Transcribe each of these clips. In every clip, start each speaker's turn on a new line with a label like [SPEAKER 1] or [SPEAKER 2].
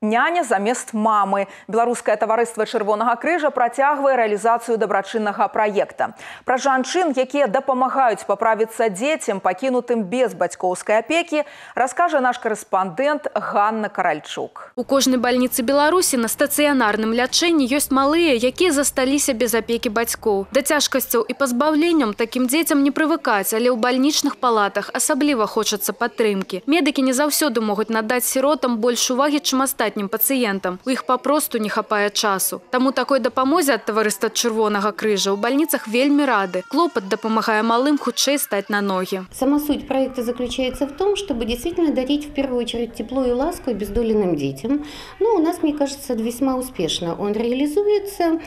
[SPEAKER 1] Няня замест мамы. Беларускае таварыства Чырвонага крыжа працягвае рэалізацыю дабрачыннага праекта. Пра жанчын, якія дапамагаюць паправіцца дзецям, пакінутым без бацькоўскай апекі, раскажа наш корэспандэнт Ганна Каральчук.
[SPEAKER 2] У кожнай бальніцы Беларусі на стацыянарным лячэнні ёсць малыя, якія засталіся без апекі бацькоў. Да цяжкасцяў і пазбаўленняў такім дзецям не прывыкаць, але ў бальнічных палатах асабліва хочацца падтрымкі. Медыкі не заўсёды могуць надаць сіротам больш увагі, чым астатнім пацыентам. У іх папросту не хапае часу. Таму такой дапамозе ад таварыства Чырвонага крыжа ў бальніцах вельмі рады. Клопат дапамагае малым хутчэй стаць на ноги.
[SPEAKER 3] Сама суть проекта заключается в том, чтобы действительно дарить в первую очередь тепло и ласку обездоленным детям. Ну, у нас, мне кажется, весьма успешно он реализуется.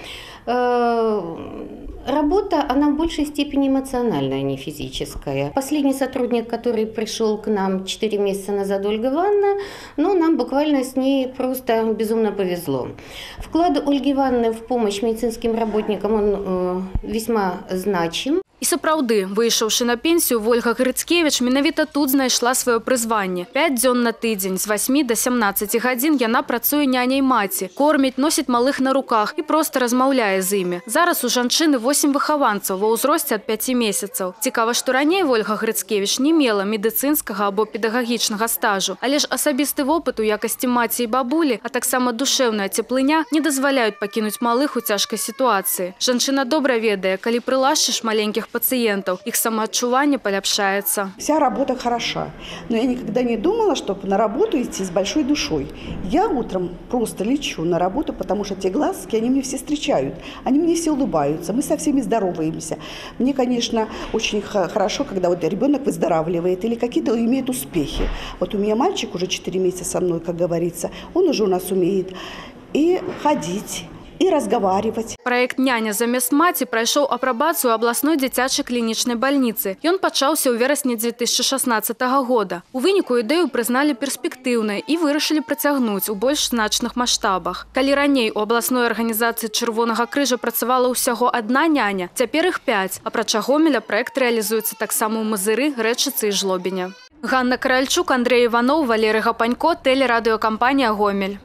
[SPEAKER 3] Работа, она в большей степени эмоциональная, а не физическая. Последний сотрудник, который пришел к нам 4 месяца назад, Ольга Ивановна, ну, нам буквально с ней просто безумно повезло. Вклад Ольги Ивановны в помощь медицинским работникам, он весьма значим.
[SPEAKER 2] І сапраўды, выйшаўшы на пенсію, Ольга Грыцкевіч менавіта тут знайшла сваё прызванне. 5 дзён на тыдзень, з 8 до 17 гадзін яна працуе няняй маці, корміць, носіць малых на руках і проста размаўляе з імі. Зараз у жанчыны 8 выхаванцаў ва ўзросце ад 5 месяцаў. Цікава, што раней Ольга Грыцкевіч не мела медыцынскага або педагагічнага стажу, але ж асабісты вопыт у якасці маці і бабулі, а таксама душэўная цеплыня не дазваляюць пакінуць малых у цяжкай сітуацыі. Жанчына добра ведае, калі прылашчыш маленькіх пациентов, их самоотчувание поляпшается.
[SPEAKER 4] Вся работа хороша, но я никогда не думала, чтобы на работу идти с большой душой. Я утром просто лечу на работу, потому что те глазки, они мне все встречают, они мне все улыбаются, мы со всеми здороваемся. Мне, конечно, очень хорошо, когда вот ребенок выздоравливает или какие-то имеет успехи. Вот у меня мальчик уже 4 месяца со мной, как говорится, он уже у нас умеет и ходить, и разговаривать.
[SPEAKER 2] Проект «Няня замест маці» прайшоў апрабацыю абласной дзіцячай клінічнай бальніцы. Ён пачаўся ў верасні 2016 года. У выніку ідэю прызналі перспектыўнай і вырашылі працягнуць у больш значных маштабах. Калі раней у абласной арганізацыі Чырвонага крыжа працавала ўсяго адна няня, цяпер іх 5. Апрача Гомеля праект рэалізуецца таксама ў Мазыры, Рэчыцы і Жлобіне. Ганна Каральчук, Андрей Иванов, Валерий Гапанько, телерадиокомпания «Гомель».